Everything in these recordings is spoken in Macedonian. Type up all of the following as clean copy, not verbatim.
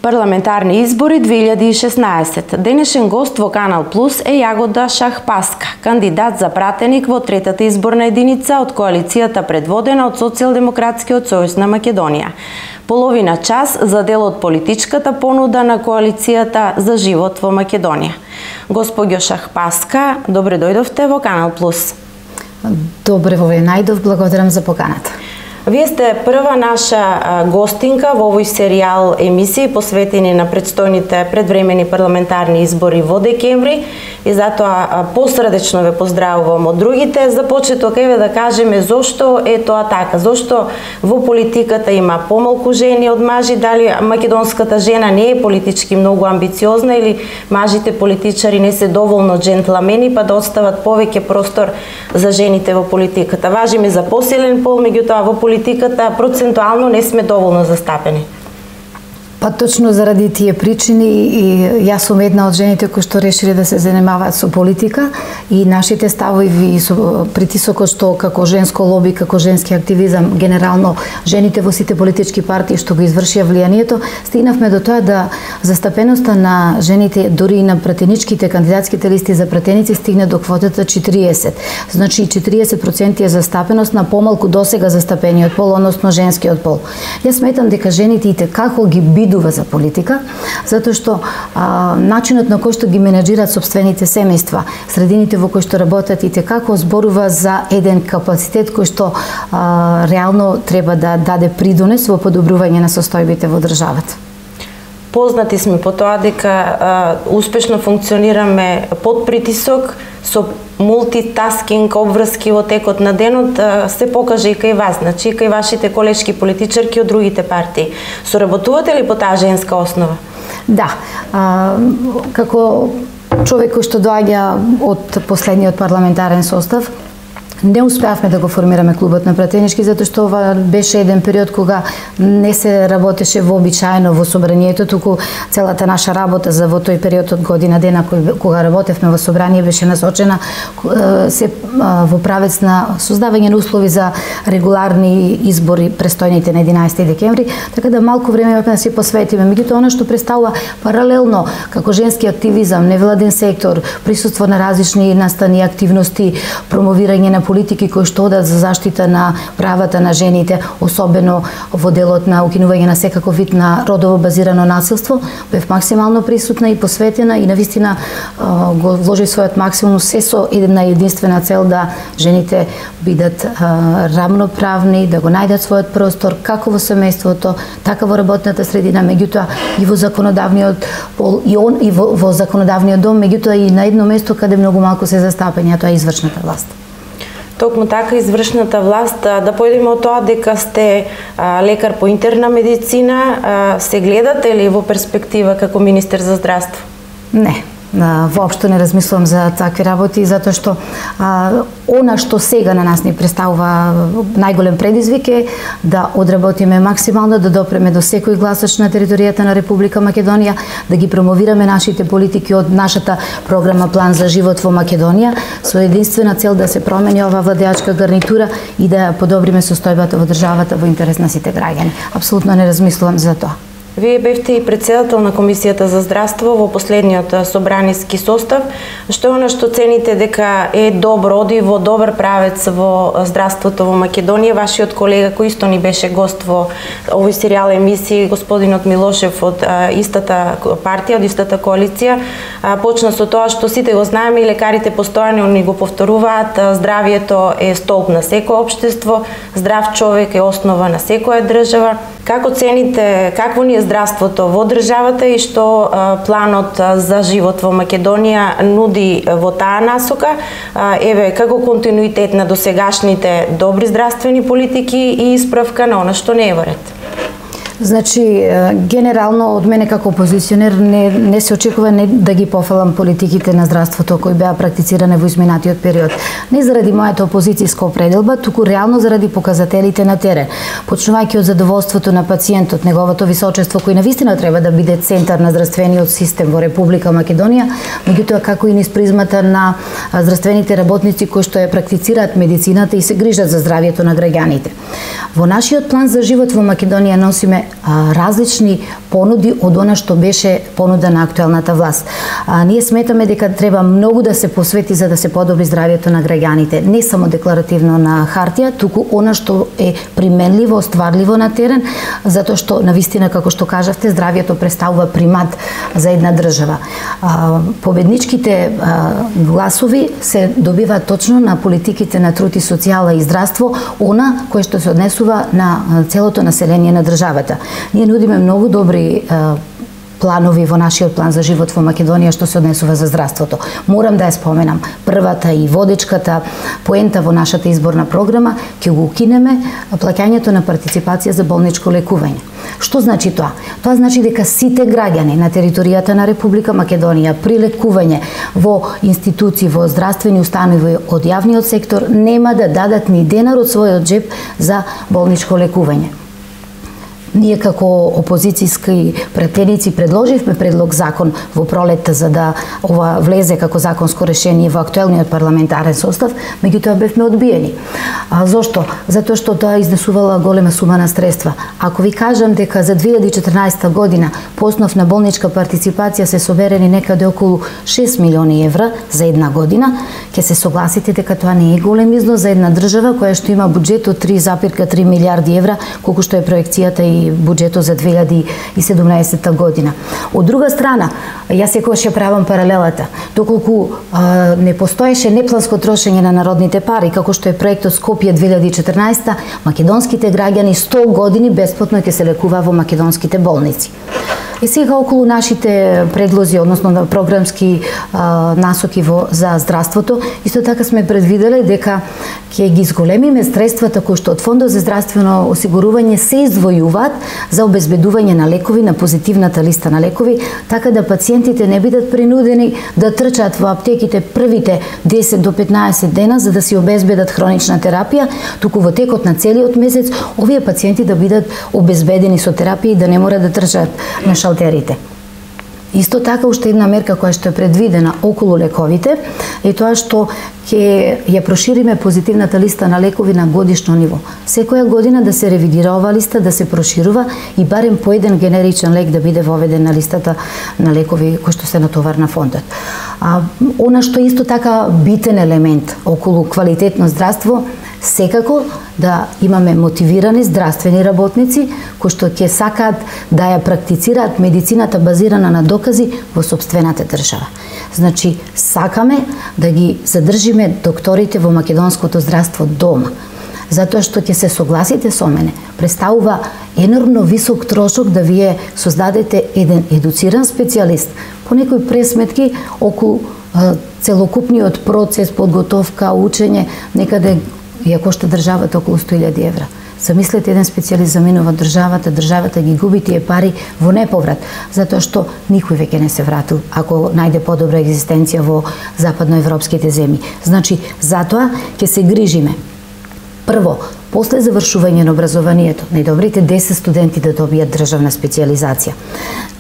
Парламентарни избори 2016. Денешен гост во Канал Плюс е Јагода Шахпаска, кандидат за пратеник во третата изборна единица од коалицијата предводена од Социјалдемократскиот сојуз на Македонија. Половина час за дел од политичката понуда на коалицијата за живот во Македонија. Госпоѓо Шахпаска, добре дојдовте во Канал Плюс. Добре ве најдов, благодарам за поканата. Вие сте прва наша гостинка во овој серијал емисии посветени на предстојните предвремени парламентарни избори во декември и затоа посредечно ве поздравувам од другите. За почеток еве да кажеме зошто е тоа така, зошто во политиката има помалку жени од мажи, дали македонската жена не е политички многу амбициозна или мажите политичари не се доволно джентламени па да остават повеќе простор за жените во политиката. Важиме за посилен пол, меѓутоа во политиката процентуално не сме доволно застапени. Па точно заради тие причини и јас сум една од жените кои што решиле да се занимаваат со политика и нашите ставови и со притисокот што како женско лоби, како женски активизам, генерално жените во сите политички партии што го извршија влијанието, стигнавме до тоа да застапеноста на жените дури и на пратеничките кандидатските листи за пратеници стигне до квотата 40. Значи 40% е застапеност на помалку досега застапениот пол, односно женскиот пол. Јас сметам дека жените и како ги бидува за политика, затоа што начинот на кој што ги менеджираат сопствените семејства, средините во кои што работат и како зборува за еден капацитет кој што реално треба да даде придонес во подобрување на состојбите во државата. Познати сме по тоа дека успешно функционираме под притисок, со мултитаскинг обврски во текот на денот, се покаже и кај вас, значи и кај вашите колешки политичарки од другите партии. Соработувате ли по таа женска основа? Да, како човек кој што доаѓа од последниот парламентарен состав, не успеавме да го формираме клубот на пратенички, затоа што ова беше еден период кога не се работеше вообичаено во собранието, туку целата наша работа за во тој период од година дена кога работевме во собрание беше насочена се во правец на создавање на услови за регуларни избори престојните на 11 декември, така да малку време имавме да се посветиме. Меѓутоа она што представува паралелно како женски активизам, невладен сектор, присуство на различни настани активности, промовирање на политики кои што одат за заштита на правата на жените, особено во делот на укинување на секаков вид на родово базирано насилство, бев максимално присутна и посветена и навистина го вложи својот максимум се со една единствена цел да жените бидат рамноправни, да го најдат својот простор како во семејството, така во работната средина, меѓутоа и во законодавниот пол и во законодавниот дом, меѓутоа и на едно место каде многу малку се застапени, а тоа е извршната власт. Токму така извршната власт, да појдеме од тоа дека сте лекар по интерна медицина, се гледате ли во перспектива како министер за здравство? Не. Воопшто не размислувам за такви работи, затоа што она што сега на нас ни представува најголем предизвик е да одработиме максимално, да допреме до секој гласач на територијата на Република Македонија, да ги промовираме нашите политики од нашата програма План за живот во Македонија, со единствена цел да се промени ова владеачка гарнитура и да подобриме состојбата во државата во интерес на сите граѓани. Апсолутно не размислувам за тоа. Вие бевте и председател на Комисијата за здравство во последниот собраниски состав. Што е она што цените дека е добро, оди во добар правец во здравството во Македонија? Вашиот колега кој исто ни беше гост во овој серијал емисии, господинот Милошев од истата партија, од истата коалиција, почна со тоа што сите го знаеме и лекарите постојано ни го повторуваат, здравието е столб на секое општество, здрав човек е основа на секоја држава. Како цените, какво ни е здравството во државата и што планот за живот во Македонија нуди во таа насока? Еве, како континуитет на досегашните добри здравствени политики и исправка на она што не е во ред? Значи, генерално од мене како опозиционер не се очекува да ги пофалам политиките на здравството кои беа практицирани во изминатиот период. Не заради мојата опозицијска определба, туку реално заради показателите на терен. Почнувајќи од задоволството на пациентот, неговото височество кој навистина треба да биде центар на здравствениот систем во Република Македонија, меѓутоа како и низ призмата на здравствените работници кои што ја практицираат медицината и се грижат за здравието на граѓаните. Во нашиот план за живот во Македонија носиме различни понуди од она што беше понуда на актуелната власт. Ние сметаме дека треба многу да се посвети за да се подобри здравјето на граѓаните, не само декларативно на хартија, туку она што е применливо, остварливо на терен, затоа што навистина, како што кажавте, здравјето представува примат за една држава. Победничките гласови се добиваат точно на политиките на труд и социјала и здравство, она кое што се однесува на целото население на државата. Ние нудиме многу добри планови во нашиот план за живот во Македонија што се однесува за здравството. Морам да ја споменам, првата и водечката поента во нашата изборна програма ќе го укинеме плаќањето на партиципација за болничко лекување. Што значи тоа? Тоа значи дека сите граѓани на територијата на Република Македонија при лекување во институции, во здравствени установи од јавниот сектор нема да дадат ни денар од својот џеп за болничко лекување. Ние како опозицијски пратеници предложивме предлог закон во пролетта за да ова влезе како законско решение во актуелниот парламентарен состав, меѓутоа бевме одбиени. Зошто? Затоа што тоа изнесувала голема сума на средства. Ако ви кажам дека за 2014 година по основ на болничка партиципација се соберени некаде околу 6 милиони евра за една година, ќе се согласите дека тоа не е голем износ за една држава која што има буџет од 3,3 милиарди евра, колку што е проекцијата и буџетот за 2017 година. Од друга страна, јас секогаш ја правам паралелата. Доколку не постоеше непланско трошење на народните пари, како што е проектот Скопје 2014, македонските граѓани 100 години бесплатно ќе се лекува во македонските болници. И сега околу нашите предлози, односно на програмски насоки за здравството, исто така сме предвиделе дека ќе ги зголемиме средствата кои што од Фондот за здравствено осигурување се издвојуваат за обезбедување на лекови на позитивната листа на лекови, така да пациентите не бидат принудени да трчаат во аптеките првите 10 до 15 дена за да си обезбедат хронична терапија, туку во текот на целиот месец овие пациенти да бидат обезбедени со терапија и да не мора да трчаат на шалтерите. Исто така уште една мерка која што е предвидена околу лековите е тоа што ќе ја прошириме позитивната листа на лекови на годишно ниво. Секоја година да се ревидира оваа листа, да се проширува и барем по еден генеричен лек да биде воведен на листата на лекови кои што се натовар на фондот. Она што е исто така битен елемент околу квалитетно здравство, секако да имаме мотивирани здравствени работници кои што ќе сакаат да ја практицираат медицината базирана на докази во сопствената држава. Значи, сакаме да ги задржиме докторите во македонското здравство дома, затоа што ќе се согласите со мене, представува енормно висок трошок да вие создадете еден едуциран специјалист по некои пресметки околу целокупниот процес, подготовка, учење, некаде ја кошта државата околу 100.000 евра. Замислете, еден специјалист заминува државата ги губи тие пари во неповрат, затоа што никој веќе не се вратил ако најде подобра екзистенција во западноевропските земји. Значи, затоа ќе се грижиме. Прво, после завршување на образованието, најдобрите 10 студенти да добијат државна специјализација,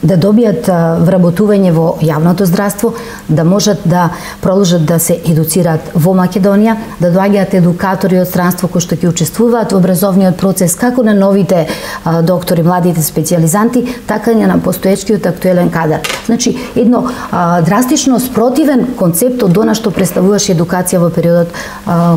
да добијат вработување во јавното здравство, да можат да продолжат да се едуцираат во Македонија, да доаѓаат едукатори од странство кои што ќе учествуваат во образовниот процес како на новите доктори, младите специјализанти, така и на постоечкиот актуелен кадар. Значи, едно драстично спротивен концепт од она што представуваше едукација во периодот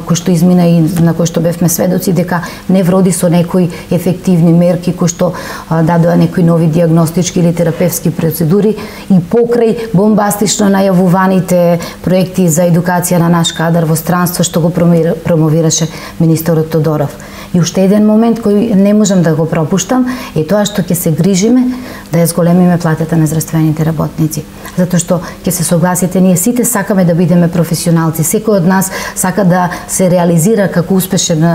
кој што измина и на кој што бевме сведоци дека не вроди со некои ефективни мерки кои што дадоа некои нови диагностички или терапевски процедури и покрај бомбастично најавуваните проекти за едукација на наш кадар во странство што го промовираше министерот Тодоров. И уште еден момент кој не можам да го пропуштам е тоа што ќе се грижиме да ја зголемиме платата на здравствените работници. Затоа што ќе се согласите, ние сите сакаме да бидеме професионалци. Секој од нас сака да се реализира како успешен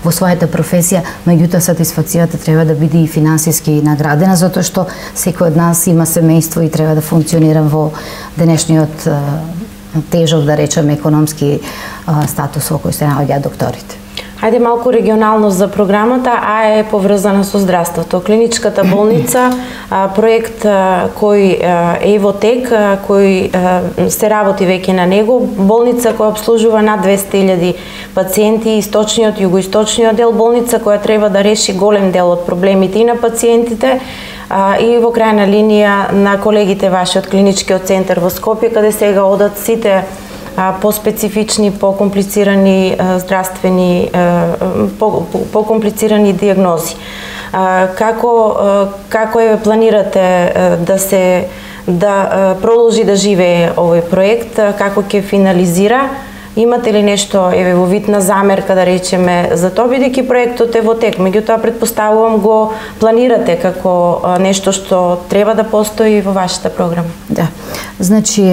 во својата професија, меѓутоа сатисфакцијата треба да биде и финансиски наградена, затоа што секој од нас има семејство и треба да функционира во денешниот тежок, да речеме, економски статус во кој се наоѓаат докторите. Ајде малку регионално за програмата, а е поврзана со здравството. Клиничката болница, проект кој е во тек, кој се работи веќе на него, болница која обслужува над 200.000 пациенти, источниот, југоисточниот дел, болница која треба да реши голем дел од проблемите и на пациентите, и во крајна линија на колегите ваши од клиничкиот центар во Скопје, каде сега одат сите по-специфични, по-комплицирани здравствени, по-комплицирани диагнози. Како планирате да продолжи да живее овој проект, како ќе финализира? Имате ли нешто во вид на замерка, да речеме, за тоа, бидејќи проектот е во тек, меѓутоа претпоставувам го планирате како нешто што треба да постои во вашата програма? Да. Значи,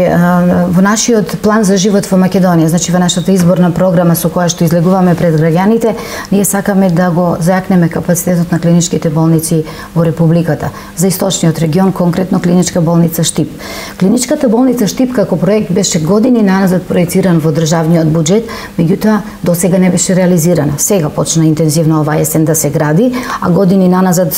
во нашиот план за живот во Македонија, значи во нашата изборна програма со која што излегуваме пред граѓаните, ние сакаме да го зајакнеме капацитетот на клиничките болници во Републиката. За источниот регион, конкретно клиничка болница Штип. Клиничката болница Штип како проект беше години наназад проециран во државниот буџет, меѓутоа до сега не беше реализирана. Сега почна интензивно оваа есен да се гради, а години наназад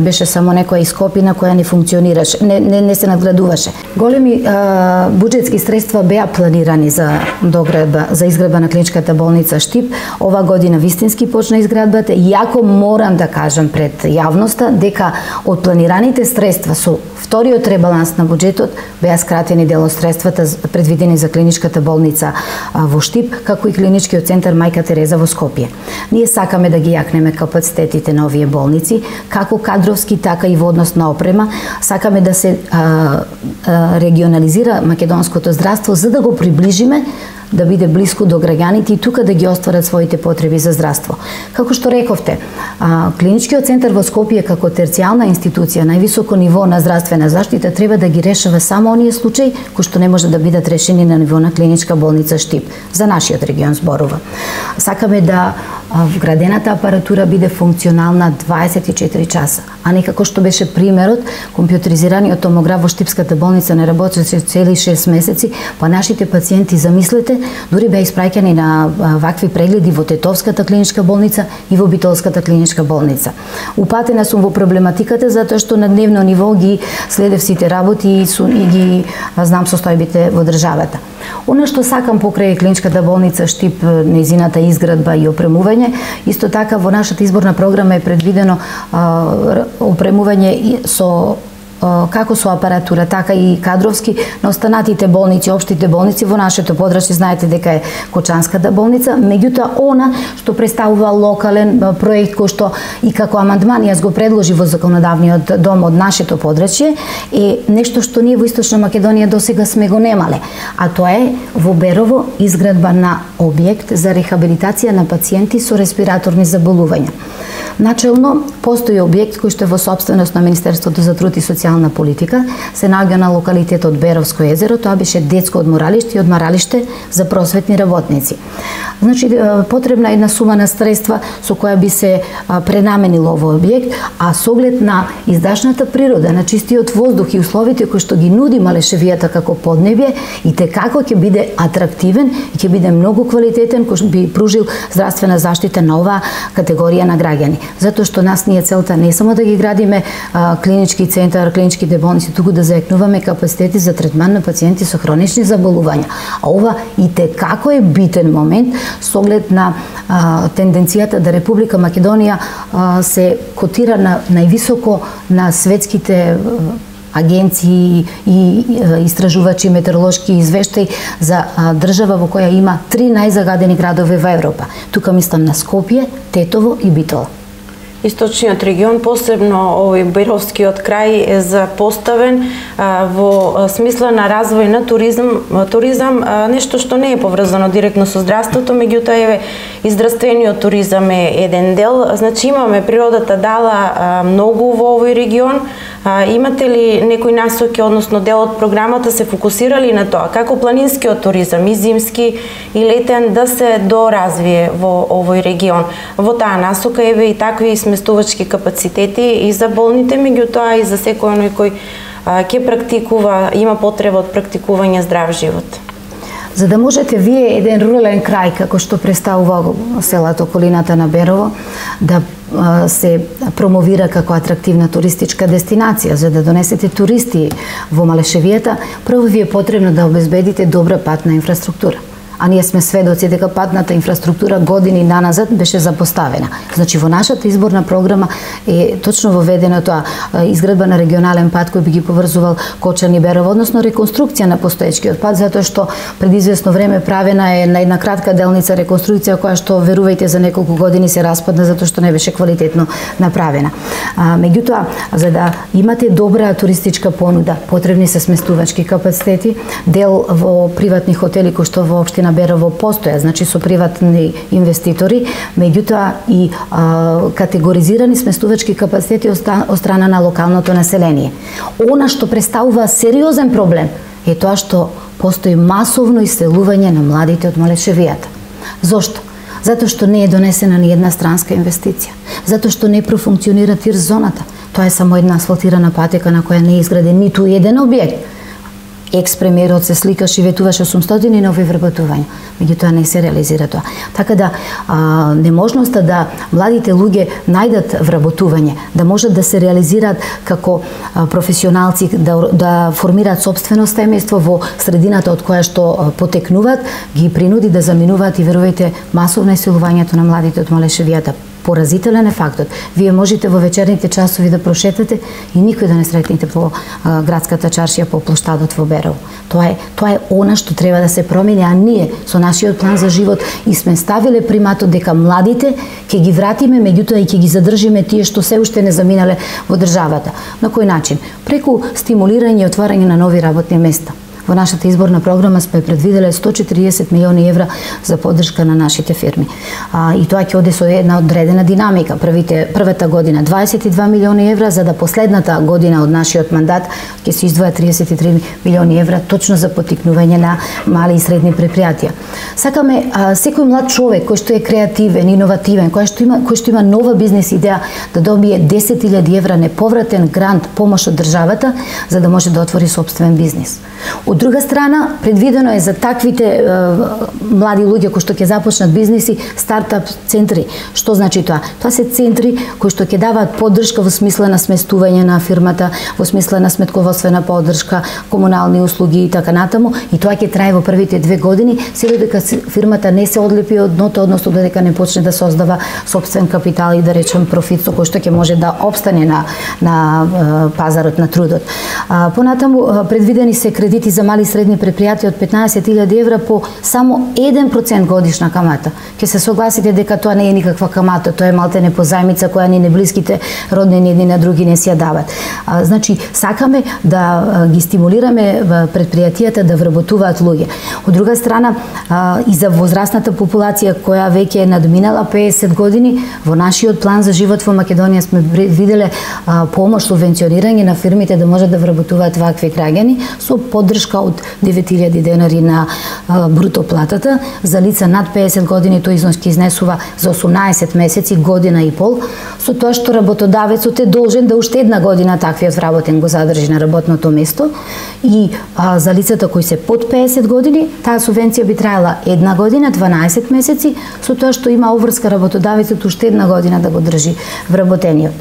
беше само некоја ископина која не функционираше, не се надградуваше. Големи буџетски средства беа планирани за доградба, за изградба на клиничката болница Штип. Ова година вистински почна изградбата, иако морам да кажам пред јавноста дека од планираните средства со вториот ребаланс на буџетот беа скратени дел од средствата предвидени за клиничката болница во Штип, како и клиничкиот центар Мајка Тереза во Скопје. Ние сакаме да ги јакнеме капацитетите на овие болници, како кадровски, така и во однос на опрема. Сакаме да се регионализира македонското здравство, за да го приближиме, да биде блиску до граѓаните и тука да ги остварат своите потреби за здравство. Како што рековте, клиничкиот центар во Скопје како терцијална институција, највисоко ниво на здравствена заштита, треба да ги решава само оние случаи кои што не може да бидат решени на ниво на клиничка болница Штип. За нашиот регион зборува. Сакаме да вградената апаратура биде функционална 24 часа, а не како што беше примерот, компјутеризираниот томограф во Штипската болница не работеше цели 6 месеци, па нашите пациенти, замислете, дури беа испраќани на вакви прегледи во Тетовската клиничка болница и во Битолската клиничка болница. Упатена сум во проблематиката затоа што на дневно ниво ги следев сите работи и ги знам состојбите во државата. Она што сакам покрај клиничката болница Штип, нејзината изградба и опремување, исто така во нашата изборна програма е предвидено опремување со како со апаратура, така и кадровски на останатите болници, општите болници во нашето подрачје. Знаете дека е Кочанската болница, меѓутоа она што представува локален проект кој што и како амандман јас го предложи во законодавниот дом од нашето подрачје, е нешто што ние во Источна Македонија досега сме го немале, а тоа е во Берово изградба на објект за рехабилитација на пациенти со респираторни заболувања. Начелно постои објект кој што е во сопственост на Министерството за труд и социјална политика, се наоѓа на локалитетот Беровско езеро. Тоа беше детско одморалиште и одморалиште за просветни работници. Значи, потребна е една сума на средства со која би се пренаменил овој објект, а со оглед на издашната природа, на чистиот воздух и условите кои што ги нуди Малешевијата како поднебје, и како ќе биде атрактивен и ќе биде многу квалитетен, кој би пружил здравствена заштита на оваа категорија на граѓани. Затоа што нас ние целта не само да ги градиме клинички центар, клиничките болници, туку да зајакнуваме капацитети за третман на пациенти со хронични заболувања. А ова и како е битен момент со оглед на тенденцијата да Република Македонија се котира на највисоко на светските агенции и истражувачи метеоролошки извештаи за држава во која има 3 најзагадени градови во Европа. Тука мислам на Скопје, Тетово и Битола. Источниот регион, посебно овој Беровскиот крај, е запоставен во смисла на развој на туризам, нешто што не е поврзано директно со здравството, меѓутоа и здравствениот туризам е еден дел. Значи имаме, природата дала многу во овој регион. Имате ли некои насоки, односно дел од програмата се фокусирали на тоа, како планинскиот туризам, и зимски и летен, да се доразвие во овој регион? Во таа насока еве и такви сместувачки капацитети и за болните, меѓутоа и за секој оној кој ќе практикува, има потреба од практикување здрав живот. За да можете вие еден рурален крај како што представува селото околината на Берово да се промовира како атрактивна туристичка дестинација, за да донесете туристи во Малешевијата, прво ви е потребно да обезбедите добра патна инфраструктура. А ние сме сведоци дека патната инфраструктура години наназад беше запоставена. Значи во нашата изборна програма е точно воведено тоа изградба на регионален пат кој би ги поврзувал Кочан и Берово, односно реконструкција на постоечкиот пат, затоа што пред извесно време правена е на една кратка делница реконструкција која што верувајте за неколку години се распадна затоа што не беше квалитетно направена. Меѓутоа, за да имате добра туристичка понуда, потребни се сместувачки капацитети, дел во приватни хотели кои што во општина Берово постоја, значи со приватни инвеститори, меѓутоа и категоризирани сместувачки капацитети од страна на локалното население. Она што представува сериозен проблем е тоа што постои масовно иселување на младите од Малешевијата. Зошто? Затоа што не е донесена ни една странска инвестиција. Затоа што не профункционира тир зоната. Тоа е само една асфалтирана патека на која не е изграден ниту еден објект. Екс-премиерот се сликаше и ветуваше 800 нови вработувања, меѓутоа не се реализира тоа. Така да неможноста да младите луѓе најдат вработување, да можат да се реализираат како професионалци, да формираат сопствено семејство во средината од која што потекнуваат, ги принуди да заминуваат и верувајте масовно иселувањето на младите од Малешевијата. Поразителен е фактот. Вие можете во вечерните часови да прошетате и никој да не сретнете по градската чаршија по плоштадот во Берово. Тоа е она што треба да се промени, а ние со нашиот план за живот и сме ставиле приматот дека младите ќе ги вратиме, меѓутоа и ќе ги задржиме тие што се уште не заминале во државата. На кој начин? Преку стимулирање и отварање на нови работни места. Во нашата изборна програма сме предвиделе 140 милиони евра за поддршка на нашите фирми. И тоа ќе оде со една одредена динамика. Првата година 22 милиони евра, за да последната година од нашиот мандат ќе се издвоја 33 милиони евра точно за поттикнување на мали и средни предпријатија. Сакаме секој млад човек кој што е креативен, иновативен, кој што има нова бизнес идеја да добие 10.000 евра неповратен грант, помош од државата, за да може да отвори сопствен бизнес. Од друга страна, предвидено е за таквите млади луѓе кои што ќе започнат бизнеси, стартап центри. Што значи тоа? Тоа се центри кои што ќе даваат поддршка во смисла на сместување на фирмата, во смисла на сметководствена поддршка, комунални услуги и така натаму, и тоа ќе трае во првите 2 години, се додека фирмата не се одлепи од дното, односно додека не почне да создава сопствен капитал и да речем профит со кој што ќе може да опстане на пазарот на трудот. Понатаму предвидени се кредити за мали и средни предпријатија од 15.000 евра по само 1% годишна камата. Ќе се согласите дека тоа не е никаква камата, тоа е малтене позајмица која ни неблиските роднини едни на други не си ја дават. Значи, сакаме да ги стимулираме предпријатијата да вработуваат луѓе. Од друга страна, и за возрастната популација која веќе е надминала 50 години, во нашиот план за живот во Македонија сме виделе помош, субвенционирање на фирмите да можат да вработуваат вакви граѓани со поддршка од 9.000 денари на бруто платата. За лица над 50 години тој износ ќе изнесува за 18 месеци, година и пол, со тоа што работодавецот е должен да уште една година таквиот вработен го задржи на работното место, и за лицата кои се под 50 години, таа субвенција би траела една година, 12 месеци, со тоа што има обврска работодавецот уште една година да го држи вработениот.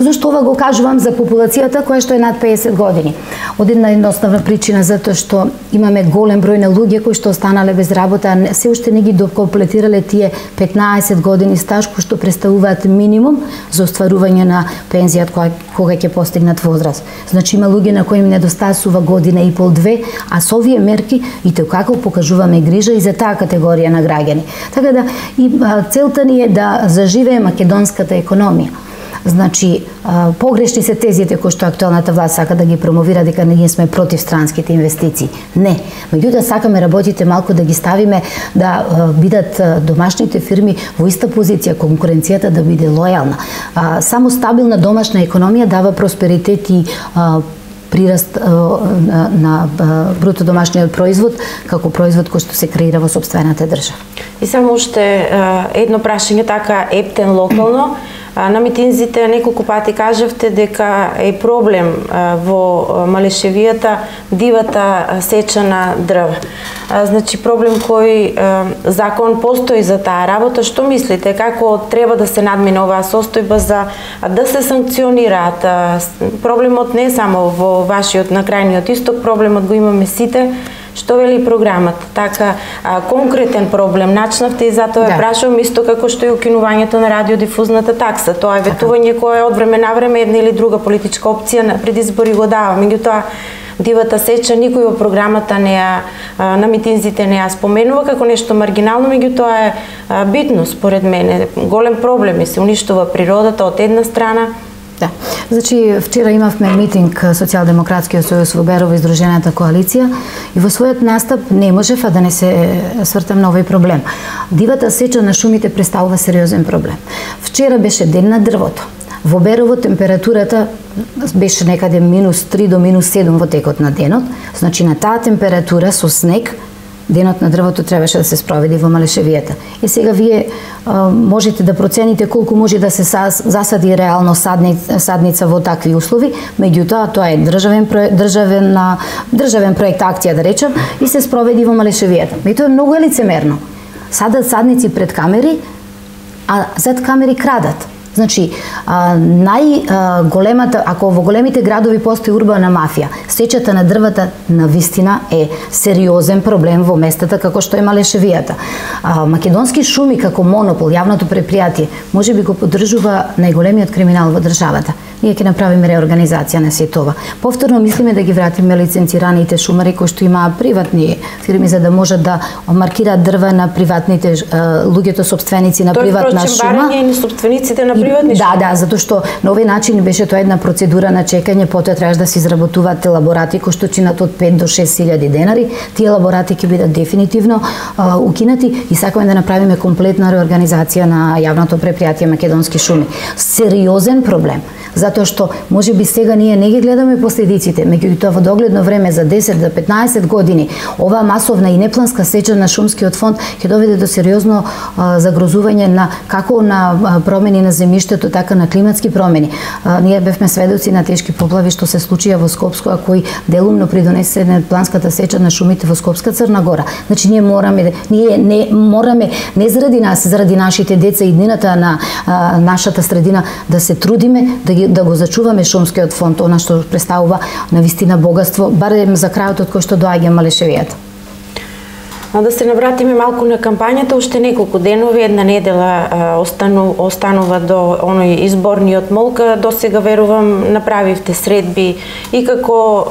Зошто ова го кажувам за популацијата која што е над 50 години? Од една едноставна причина, затоа што имаме голем број на луѓе кои што останале без работа, се уште не ги докомплетирале тие 15 години стаж кои што представуваат минимум за остварување на пензијата кога ќе постигнат возраст. Значи има луѓе на кои им недостасува година и пол, 2, а со овие мерки и како покажуваме грижа и за таа категорија на граѓани. Така да и целта ни е да заживее македонската економија. Значи, погрешни се тезите кои што актуелната власт сака да ги промовира дека ние сме против странските инвестиции. Не. Меѓутоа сакаме работите малку да ги ставиме да бидат домашните фирми во иста позиција, конкуренцијата да биде лојална. Само стабилна домашна економија дава просперитет и прираст на бруто домашниот производ како производ кој што се креира во сопствената држава. И само уште едно прашање така ептен локално. На митинзите неколку пати кажавте дека е проблем во Малешевијата дивата сеча на дрва. Значи проблем кој закон постои за таа работа. Што мислите, како треба да се надмине оваа состојба за да се санкционираат? Проблемот не е само во вашиот на крајниот исток, проблемот го имаме сите. Што вели програмата? Така, конкретен проблем начнавте и затоа ја прашувам исто како што и укинувањето на радиодифузната такса. Тоа е ветување кое од време на време една или друга политичка опција на предизбори го дава. Меѓутоа, дивата сеча никој во програмата не ја, на митинзите не ја споменува како нешто маргинално, меѓутоа е битно според мене. Голем проблем е, се уништува природата од една страна. Да. Значи, вчера имавме митинг Социјалдемократскиот сојуз во Берово и Здружената коалиција и во својот настап не можев да не се свртам на овој проблем. Дивата сеча на шумите представува сериозен проблем. Вчера беше ден на дрвото. Во Берово температурата беше некаде -3 до -7 во текот на денот. Значи, на таа температура со снег денот на дрвото требаше да се спроведи во Малешевијата. И сега вие можете да процените колку може да се засади реално садница во такви услови, меѓутоа тоа е државен проект акција, да речем, и се спроведи во Малешевијата. И тоа е многу лицемерно. Садат садници пред камери, а зад камери крадат. Значи, најголемата, ако во големите градови постои урбана мафија, сечата на дрвата навистина е сериозен проблем во местата како што е Малешевијата. Македонски шуми како монопол, јавното предпријатие, можеби го поддржува најголемиот криминал во државата. Ние ќе направиме реорганизација на сето ова. Повторно мислиме да ги вратиме лиценцираните шумари кои што имаат приватни фирми за да можат да маркираат дрва на приватните луѓето собственици на приватна шума. Барање и собствениците на приватни шуми. Да, затоа што на овој начин беше тоа една процедура на чекање, потоа требаш да се изработуваат елаборати кои што чинат од 5 до 6.000 денари. Тие елаборати ќе бидат дефинитивно укинати и сакаме да направиме комплетна реорганизација на јавното предпријатие Македонски шуми. Сериозен проблем. Затоа што можеби сега ние не ги гледаме последиците, меѓутоа во догледно време за 10 до 15 години оваа масовна и непланска сеча на шумскиот фонд ќе доведе до сериозно загрозување на како на промени на земјиштето, така на климатски промени. Ние бевме сведоци на тешки поплави што се случија во Скопско, а кои делумно придонесе непланската сеча на шумите во Скопска Црна Гора. Значи ние мораме не заради нас, заради нашите деца и иднината на нашата средина да се трудиме да го зачуваме шумскиот фонд, она што представува навистина богатство, барем за крајот од кој што доаѓа Малешевијата. Да се навратиме малку на кампањата, уште неколку денови, една недела останува до оној изборниот молк. До сега верувам направивте средби и како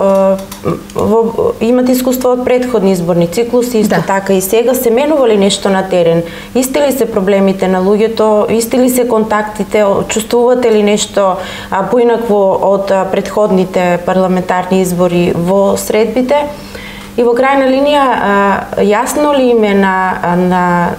имате искуство од претходни изборни циклуси, исто така и сега се менува ли нешто на терен? Исти ли се проблемите на луѓето, исти ли се контактите, чувствувате ли нешто поинакво од претходните парламентарни избори во средбите? И во крајна линија, јасно ли име на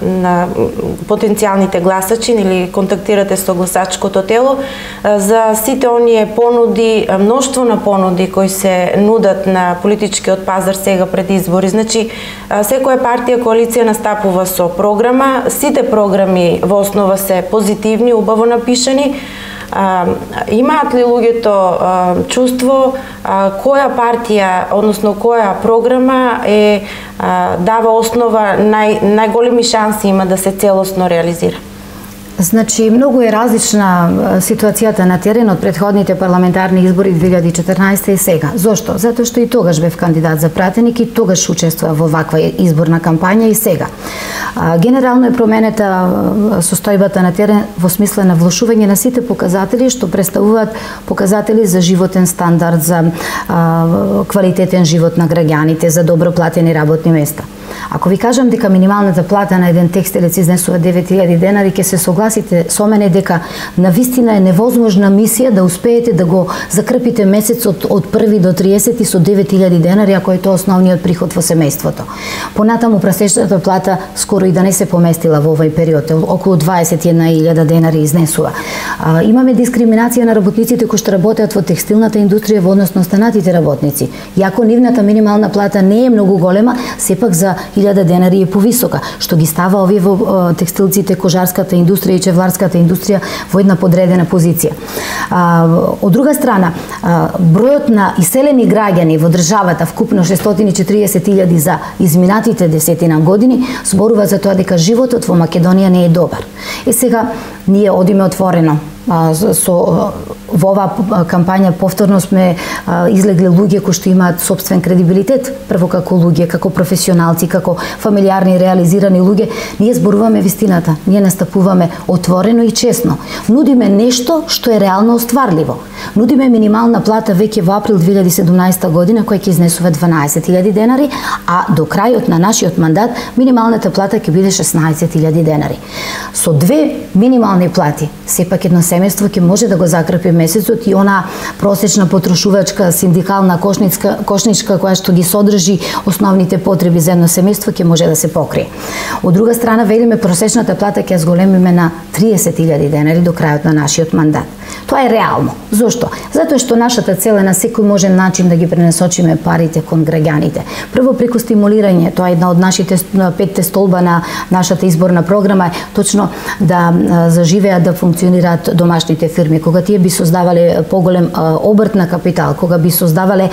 потенцијалните гласачи или контактирате со гласачкото тело за сите оние понуди, мноштво на понуди кои се нудат на политичкиот пазар сега пред избори? Значи, секоја партија, коалиција настапува со програма, сите програми во основа се позитивни, убаво напишани. Имаат ли луѓето чувство која партија, односно која програма дава основа, најголеми шанси има да се целосно реализира? Значи, многу е различна ситуацијата на терен од претходните парламентарни избори 2014 и сега. Зошто? Затоа што и тогаш бев кандидат за пратеник и тогаш учествував во ваква изборна кампања и сега. Генерално е променета состојбата на терен во смисла на влошување на сите показатели што представуваат показатели за животен стандард, за квалитетен живот на граѓаните, за добро платени работни места. Ако ви кажам дека минималната плата на еден текстилец изнесува 9.000 денари, ќе се согласите со мене дека навистина е невозможна мисија да успеете да го закрпите месецот од 1 до 30 со 9.000 денари, ако е тоа основниот приход во семејството. Понатаму пресечната плата скоро и да не се поместила во овој период, околу 21.000 денари изнесува. Имаме дискриминација на работниците кои што работат во текстилната индустрија во однос на останатите работници. Иако нивната минимална плата не е многу голема, сепак за 1000 денари е повисока, што ги става овие во текстилците, кожарската индустрија и чевларската индустрија во една подредена позиција. Од друга страна, бројот на иселени граѓани во државата, вкупно 640.000 за изминатите 10 години, зборува за тоа дека животот во Македонија не е добар. Сега ние одиме отворено во оваа кампања повторно сме излегле луѓе кои што имаат сопствен кредибилитет, прво како луѓе, како професионалци, како фамилиарни реализирани луѓе. Ние зборуваме вистината, ние настапуваме отворено и честно. Нудиме нешто што е реално остварливо. Нудиме минимална плата веќе во април 2017 година која ќе изнесува 12.000 денари, а до крајот на нашиот мандат минималната плата ќе биде 16.000 денари. Со две минимални плати сепак едно семејство ќе може да го закрепи месецот и она просечна потрошувачка синдикална кошничка која што ги содржи основните потреби за едно семејство ќе може да се покрие. Од друга страна, велиме просечната плата ќе зголемиме на 30.000 денари до крајот на нашиот мандат. Тоа е реално. Зошто? Затоа што нашата цел е на секој можен начин да ги пренасочиме парите кон граѓаните. Прво преку стимулирање, тоа е една од нашите 5 столба на нашата изборна програма, точно да заживеат, да функционираат домашните фирми. Кога тие би создавале поголем обрт на капитал, кога би создавале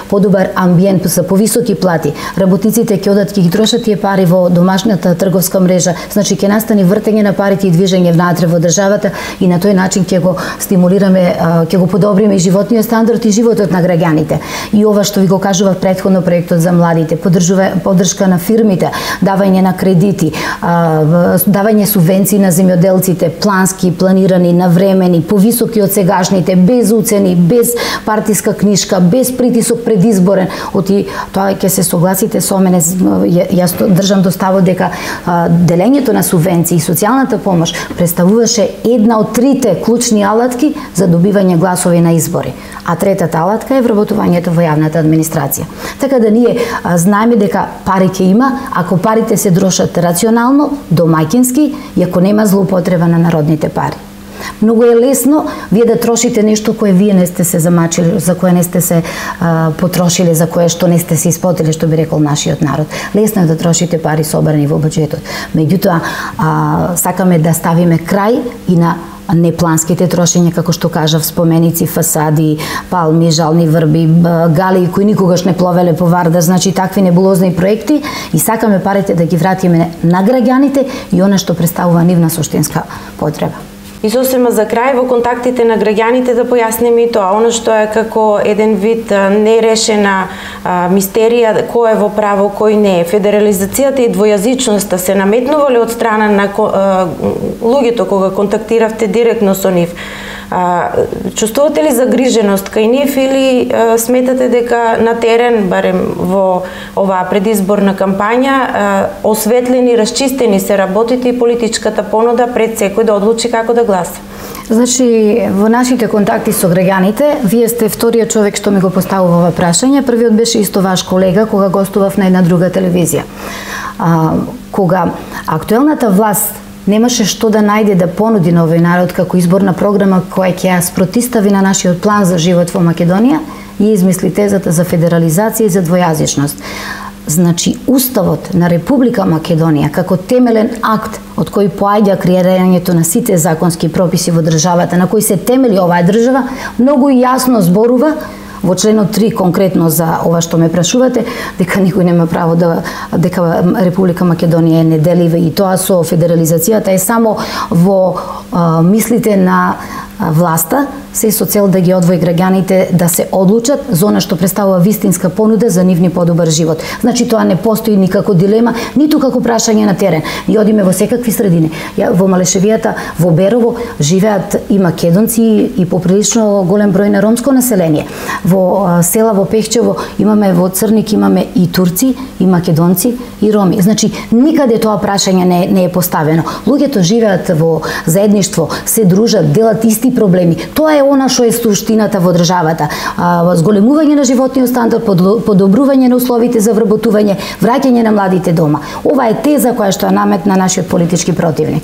подобар амбиент за повисоки плати, работниците ќе одат ќе ги трошат тие пари во домашната трговска мрежа, значи ќе настани вртење на парите и движење внатре во државата и на тој начин ќе го стимулираме, ќе го подобриме и животниот стандард и животот на граѓаните. И ова што ви го кажував претходно, проектот за младите, поддршка на фирмите, давање на кредити, давање субвенции на земјоделците, плански, планирани, навремени, повисоки од сегашните, без уцени, без партиска книшка, без притисок предизборен. Оти тоа ќе се согласите со мене, јас држам до ставот дека делењето на субвенции и социјалната помош представуваше една од трите клучни алатки за добивање гласови на избори. А третата алатка е вработувањето во јавната администрација. Така да ние знаеме дека пари ќе има, ако парите се трошат рационално, домаќински и ако нема злоупотреба на народните пари. Многу е лесно вие да трошите нешто кое вие не сте се замачили, за кое не сте се потрошиле, за кое што не сте се испотили, што би рекол нашиот народ. Лесно е да трошите пари собрани во буџетот. Меѓутоа, сакаме да ставиме крај и на непланските трошења, како што кажав, споменици, фасади, палми, жални врби, галии кои никогаш не пловеле по Вардар, значи такви небулозни проекти, и сакаме парите да ги вратиме на граѓаните и она што представува нивна суштинска потреба. И сосема за крај, во контактите на граѓаните да појасниме и тоа, оно што е како еден вид нерешена мистерија, кој е во право, кој не е. Федерализацијата и двојазичноста се наметнувале од страна на луѓето кога контактиравте директно со нив. Чувствувате ли загриженост кај нив или сметате дека на терен, барем во оваа предизборна кампања, осветлени, расчистени се работите и политичката понуда пред секој да одлучи како да гласа? Значи, во нашите контакти со граѓаните, вие сте вториот човек што ми го поставува ова прашање. Првиот беше исто ваш колега кога гостував на една друга телевизија. Кога актуелната власт немаше што да најде да понуди на овој народ како изборна програма која ќе ја спротистави на нашиот план за живот во Македонија, и измисли тезата за федерализација и за двојазичност. Значи, Уставот на Република Македонија како темелен акт од кој поаѓа креирањето на сите законски прописи во државата, на кој се темели оваа држава, многу јасно зборува во членот 3 конкретно за ова што ме прашувате, дека никој нема право дека Република Македонија е неделива, и тоа со федерализацијата е само во мислите на власта, се со цел да ги одвои граѓаните да се одлучат за она што представува вистинска понуда за нивни подобар живот. Значи, тоа не постои никако дилема, ниту како прашање на терен. Ние одиме во секакви средини. Во Малешевијата, во Берово, живеат и македонци и поприлично голем број на ромско население. Во села во Пехчево имаме, во Црник имаме и турци, и македонци, и роми. Значи, никаде тоа прашање не е поставено. Луѓето живеат во заедништво, се дружат, делат исти проблеми. Тоа е она што е суштината во државата. Зголемување на животниот стандард, подобрување на условите за вработување, враќање на младите дома. Ова е теза која што ја наметна нашиот политички противник.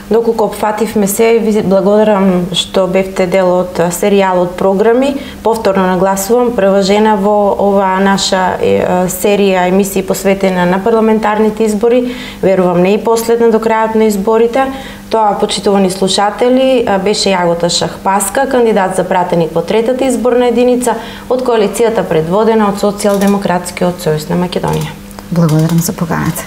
Доколку опфативме се, ви благодарам што бевте дел од серијалот програми. Повторно нагласувам, прва жена во оваа наша серија емисии посветена на парламентарните избори. Верувам не и последна до крајот на изборите. Тоа, почитувани слушатели, беше Јагота Шахпаска, кандидат за пратеник во третата изборна единица од коалицијата предводена од Социјалдемократскиот сојуз на Македонија. Благодарам за поканата.